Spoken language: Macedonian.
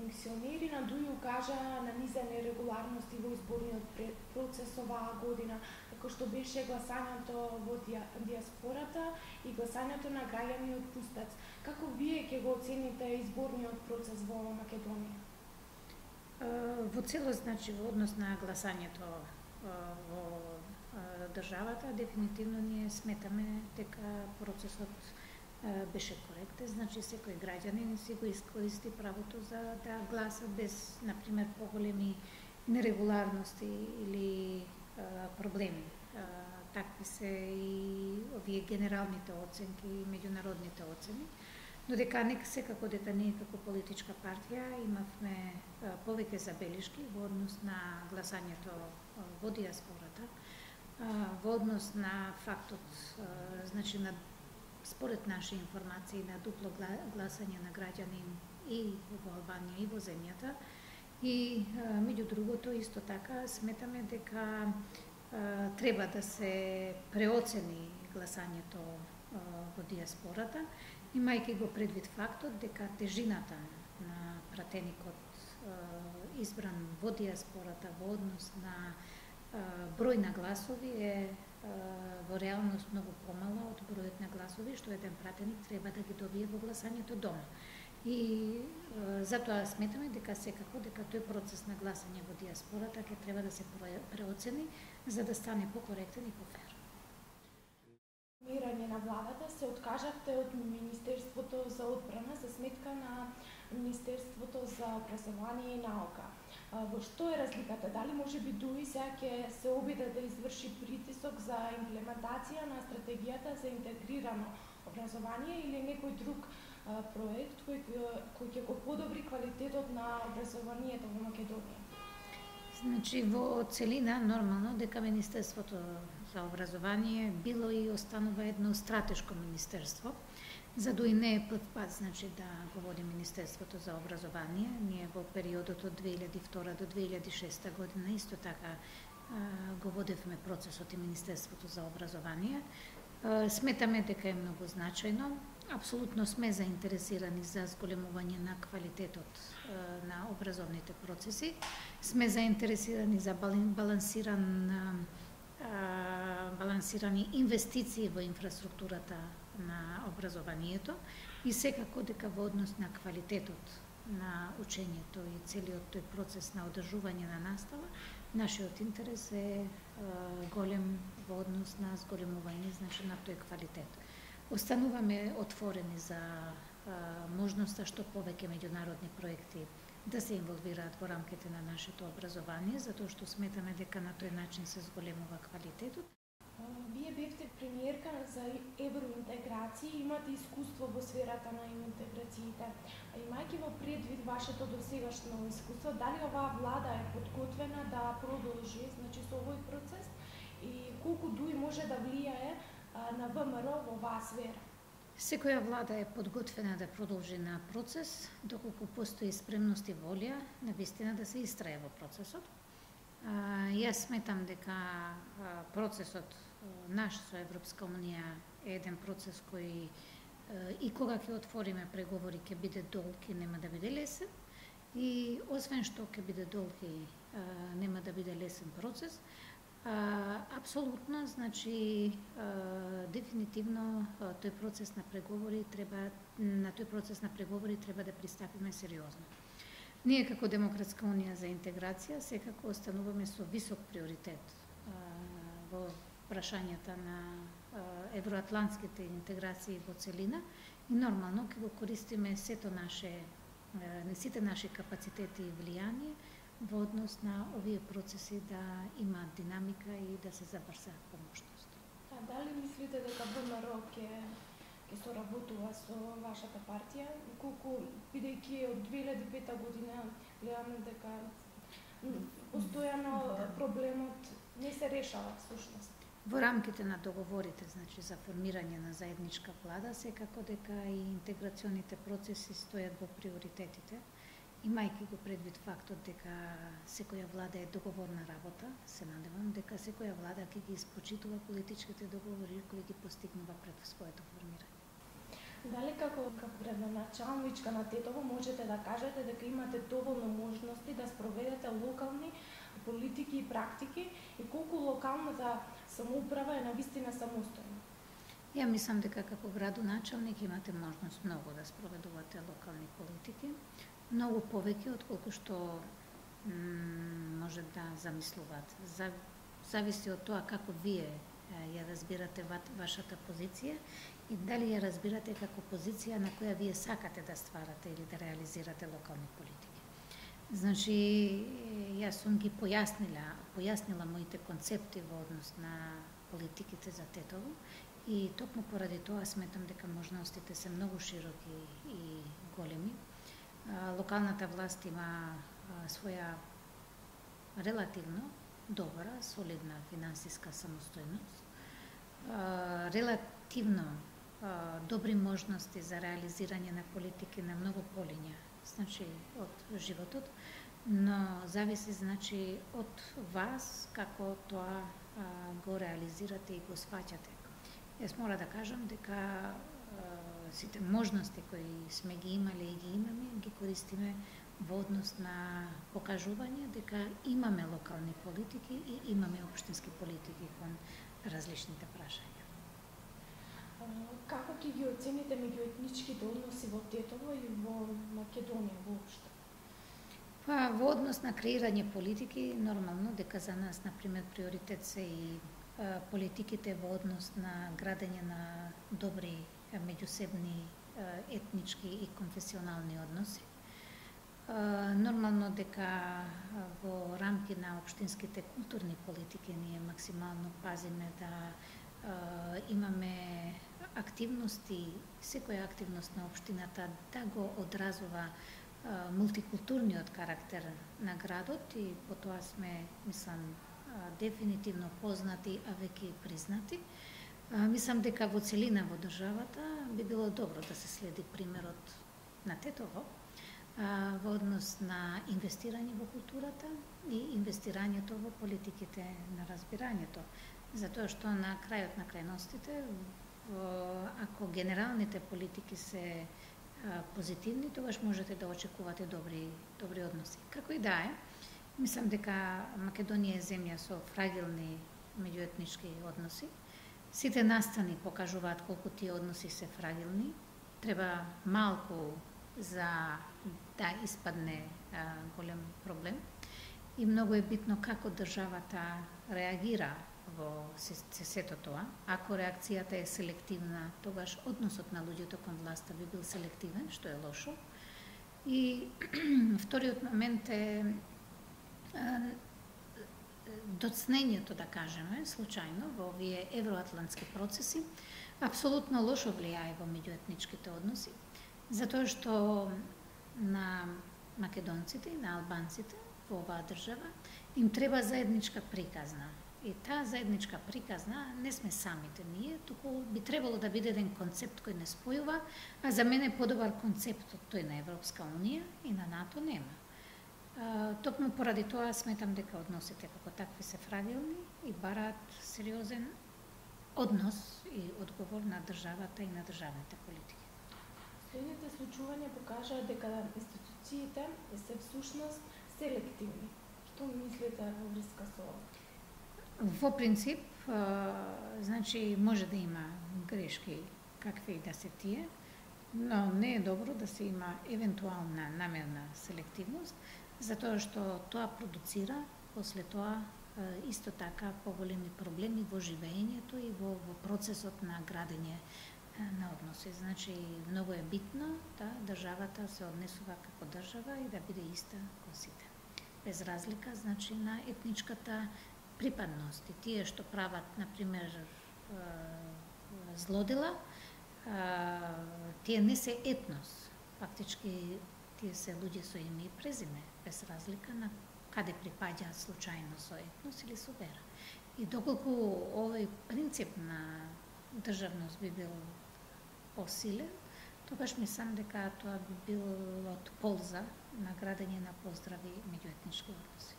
функционери на ДУИ укажаа на низа нерегуларности во изборниот процес оваа година, како што беше гласањето во диаспората и гласањето на граѓани од Пустац. Како вие ќе го оцените изборниот процес во Македонија? Во целост, значи, во однос на гласањето во државата, дефинитивно ние сметаме дека процесот беше коректен, значи секој граѓанин си го искористи правото за да гласа без, например, поголеми нерегуларности или проблеми. Такви се и овие генералните оценки и меѓународните оцени, но дека секако дека ние како политичка партија имавме повеќе забелишки во однос на гласањето во диаспората, во однос на фактот, значи на според наши информации на дупло гласање на граѓани и во Албанија и во земјата. И меѓу другото исто така сметаме дека треба да се преоцени гласањето во диаспората, имајќи го предвид фактот дека тежината на пратеникот избран во диаспората во однос на број на гласови е во реалност многу помала од бројот на гласови што еден пратеник треба да ги добие во гласањето дома. И затоа сметаме дека секако дека тој процес на гласање во диаспората ќе треба да се преоцени за да стане покоректен и пофер. Формирање на владата се откажавте од Министерството за одбрана за сметка на Министерството за образование и наука. Во што е разликата? Дали можеби ДУИ сега ќе се обиде да изврши притисок за имплементација на стратегијата за интегрирано образование или некој друг проект кој ќе го подобри квалитетот на образованието во Македонија? Значи, во целина, нормално, дека Министерството за образование било и останува едно стратешко министерство, за да и не е прв пат, значи, да го води Министерството за образование. Ние во периодот од 2002 до 2006 година исто така го водевме процесот и Министерството за образование. Сметаме дека е многу значајно. Апсолутно сме заинтересирани за зголемување на квалитетот на образовните процеси. Сме заинтересирани за балансирани инвестиции во инфраструктурата на образованието и секако дека во однос на квалитетот на учењето и целиот тој процес на одржување на настава, нашиот интерес е голем во однос на зголемување, значи, на тој квалитет. Остануваме отворени за можноста што повеќе меѓународни проекти да се инволвираат во рамките на нашето образование, затоа што сметаме дека на тој начин се зголемува квалитетот. Вие бевте премиерка за евроинтеграција и имате искуство во сферата на интеграциите. Имајќи во предвид вашето досегашно искуство, дали оваа влада е подготвена да продолжи, значи, со овој процес и колку ДУИ може да влијае на ВМРО во оваа сфера? Секоја влада е подготвена да продолжи на процес, доколку постои спремност и волја на вистина да се истрае во процесот. Јас сметам дека процесот наш со Европска унија е еден процес кој и кога ќе отвориме преговори ќе биде долг и нема да биде лесен. И освен што ќе биде долг и нема да биде лесен процес, апсолутно, значи, дефинитивно тој процес на преговори треба да пристапиме сериозно. Ние како Демократска унија за интеграција секако остануваме со висок приоритет во прашањата на евроатлантските интеграции во целина и нормално ќе го користиме сите наши капацитети и влијание во однос на овие процеси да имаат динамика и да се забрзаат по можност. Дали мислите дека ВМРО ќе соработува со вашата партија, колку бидејќи од 2005 година гледаме дека постојано проблемот не се решава всушност? Во рамките на договорите, значи, за формирање на заедничка влада, секако дека и интеграционите процеси стојат во приоритетите, имајќи го предвид фактот дека секоја влада е договорна работа. Се надевам дека секоја влада ќе ги испочитува политичките договори кои ги постигнува пред своето формирање. Дали како градоначалничка на Тетово можете да кажете дека имате доволно можности да спроведете локални политики и практики и колку локалната самоуправа е навистина самостојна? Ја мислам дека како градоначалник имате можност многу да спроведувате локални политики, многу повеќе отколку што може да замислувате. Зависи од тоа како вие ја разбирате вашата позиција и дали ја разбирате како позиција на која вие сакате да стварате или да реализирате локални политики. Значи, јас сум ги појаснила моите концепти во однос на политиките за Тетово и токму поради тоа сметам дека можностите се многу широки и големи. Локалната власт има своја релативно добра, солидна финансиска самостојност, релативно добри можности за реализирање на политики на многу полиња, значи од животот, но зависи значи од вас како тоа го реализирате и го сваќате. Јас мора да кажам дека сите можности кои сме ги имале и ги имаме, ги користиме во однос на покажување дека имаме локални политики и имаме општински политики кон различните прашања. Како ќе ги оцените меѓуетничките односи во Тетово и во Македонија воопшто? Па, во однос на креирање политики, нормално дека за нас, например, приоритет се и политиките во однос на градење на добри меѓусебни етнички и конфесионални односи. Нормално дека во рамки на општинските културни политики ние максимално пазиме да имаме активности, секоја активност на општината да го одразува мултикултурниот карактер на градот и по тоа сме, мислам, дефинитивно познати, а веќе и признати. Мислам дека во целина во државата би било добро да се следи примерот на Тетово во однос на инвестирање во културата и инвестирањето во политиките на разбирањето. Затоа што на крајот на крајностите, ако генералните политики се позитивни, тогаш можете да очекувате добри односи. Како и да е, мислам дека Македонија е земја со фрагилни меѓуетнички односи. Сите настани покажуваат колку тие односи се фрагилни. Треба малку за да испадне голем проблем. И многу е битно како државата реагира во сето тоа. Ако реакцијата е селективна, тогаш односот на луѓето кон власта би бил селективен, што е лошо. И вториот момент е доцнењето, да кажеме, случајно во овие евроатлантски процеси, апсолутно лошо влијае во меѓуетничките односи, затоа што на македонците и на албанците во оваа држава им треба заедничка приказна. И таа заедничка приказна не сме самите ние, туку би требало да биде еден концепт кој не спојува, а за мене подобар концепт од тој на Европска Унија и на НАТО нема. Токму поради тоа сметам дека односите како такви се фрагилни и бараат сериозен однос и одговор на државата и на државните политики. Следните случувања покажаат дека институциите се всушност селективни. Што мислите во врска со ова? Во принцип, значи може да има грешки какви и да се тие, но не е добро да се има евентуална намерна селективност, затоа што тоа продуцира после тоа исто така поголеми проблеми во живеењето и во процесот на градење на односи. Значи, многу е битно да државата се однесува како држава и да биде иста кон сите. Без разлика, значи, на етничката припадност. И тие што прават, например, злодела, тие не се етнос. Фактички, тие се луѓе со име и презиме, без разлика на каде припаѓаат случајно со етнос или со вера. И доколку овој принцип на државност би бил посилен, тогаш мислам дека тоа би било од полза на градење на поздрави меѓуетнички односи.